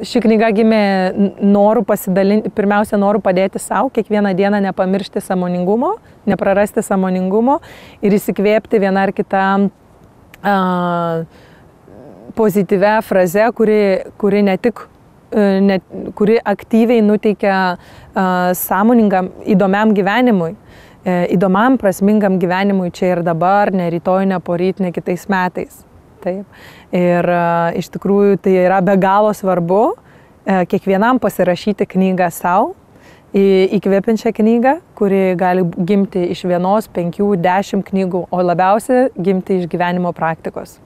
ši knyga gimė noru pasidalinti, pirmiausia, noru padėti savo, kiekvieną dieną nepamiršti sąmoningumo, neprarasti sąmoningumo ir įsikvėpti vieną ar kitą pozityvę frazę, kuri ne tik kuri aktyviai nuteikia sąmoningam, įdomiam gyvenimui, įdomiam, prasmingam gyvenimui čia ir dabar, ne rytoj, ne poryt, ne kitais metais. Taip. Ir iš tikrųjų tai yra be galo svarbu kiekvienam pasirašyti knygą savo, įkvepiančią knygą, kuri gali gimti iš 1, 5, 10 knygų, o labiausiai gimti iš gyvenimo praktikos.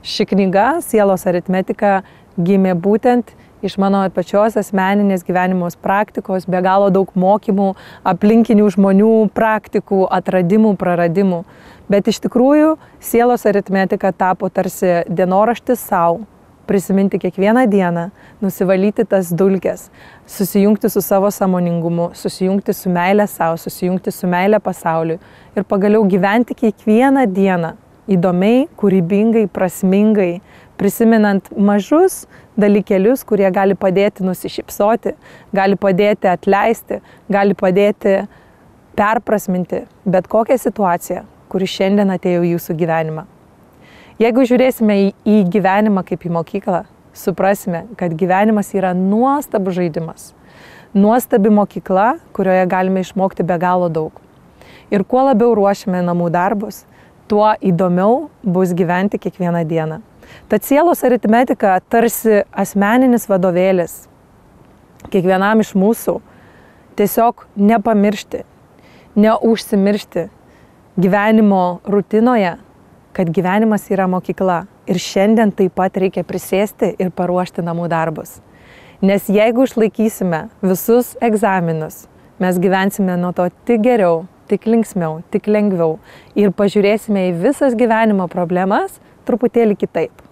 Ši knyga, Sielos aritmetika, gimė būtent iš mano pačios asmeninės gyvenimos praktikos, be galo daug mokymų, aplinkinių žmonių praktikų, atradimų, praradimų. Bet iš tikrųjų Sielos aritmetika tapo tarsi dienoraštis savo, prisiminti kiekvieną dieną, nusivalyti tas dulkes, susijungti su savo sąmoningumu, susijungti su meile savo, susijungti su meile pasauliui ir pagaliau gyventi kiekvieną dieną įdomiai, kūrybingai, prasmingai, prisimenant mažus dalykėlius, kurie gali padėti nusišypsoti, gali padėti atleisti, gali padėti perprasminti bet kokią situaciją, kuri šiandien atėjo į jūsų gyvenimą. Jeigu žiūrėsime į gyvenimą kaip į mokyklą, suprasime, kad gyvenimas yra nuostabus žaidimas, nuostabi mokykla, kurioje galime išmokti be galo daug. Ir kuo labiau ruošiame namų darbus, tuo įdomiau bus gyventi kiekvieną dieną. Tad Sielos aritmetika tarsi asmeninis vadovėlis kiekvienam iš mūsų tiesiog nepamiršti, neužsimiršti gyvenimo rutinoje, kad gyvenimas yra mokykla ir šiandien taip pat reikia prisėsti ir paruošti namų darbus. Nes jeigu išlaikysime visus egzaminus, mes gyvensime nuo to tik geriau, tik linksmiau, tik lengviau ir pažiūrėsime į visas gyvenimo problemas truputėlį kitaip.